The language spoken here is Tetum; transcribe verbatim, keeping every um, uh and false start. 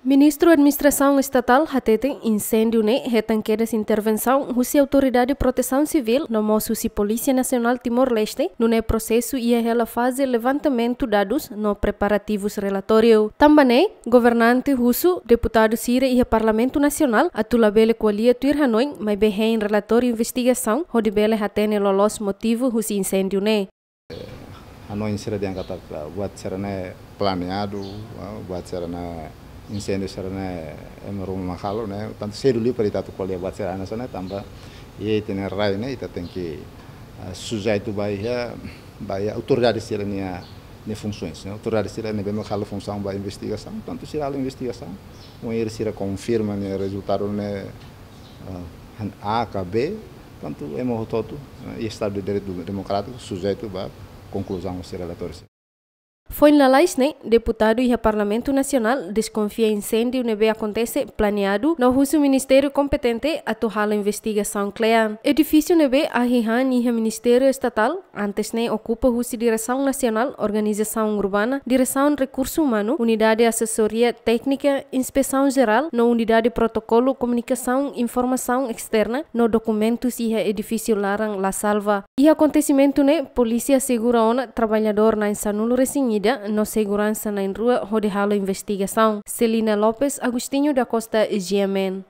Ministru Administrasaun Estatál hateten inséndiu ne'e hetan kedas intervensaun husi Autoridade Protesaun Sivíl no mós husi Polísia Nasionál Timor-Leste, nune'e prosesu iha hela faze levantamentu dadus no preparativus relatóriu. Tanba ne'e, governante husu deputadu sira iha Parlamentu Nasionál atu labele ko'alia tuir hanoin, maibé hein relatóriu investigasaun hodi bele hatene loloos motivu husi inséndiu ne'e. Hanoin sira dehan katak buat sira-ne'e planeadu, ah, buat sira-ne'e inséndiu sira-ne'e ema ruma mak halo ne'e, tantu sedu liu para ita atu ko'alia buat sira-ne'e, tanba iha ita-nia rai ne'e ita tenke, ah, sujeitu ba iha, ba iha autoridade sira-nia, nia funsoens, ne'e. Autoridade sira ne'ebé mak halo funsaun ba investigasaun, tantu sira halo investigasaun, wainhira sira konfirma nia rezultadu ne'e, ah, han A ka B, tantu ema hotu-hotu, eh, iha Estadu de Direitu Demokrátiku sujeitu ba konkluzaun husi relatóriu sira. Foin lalais ne'e, deputadu iha Parlamentu Nasionál deskonfia inséndiu ne'ebé akontese planeadu no husu ministériu kompetente atu halo investigasaun kle'an. Edifísiu ne'ebé ahi han iha Ministériu Estatál, antes ne'e okupa husi Diresaun Nasionál Organizasaun Urbana, Diresaun Rekursu Umanu, Unidade Asesoria Téknika, Inspesaun Jerál no Unidade Protokolu Komunikasaun Informasaun Esterna no dokumentus iha edifísiu laran La Salva. Iha akontesimentu ne'e, polísia asegura ona traballadór na'in sanulu-resin-ida no seguransa na'in-rua hodi halo investigasaun. Celina Lopes, Agostinho da Costa, G M N.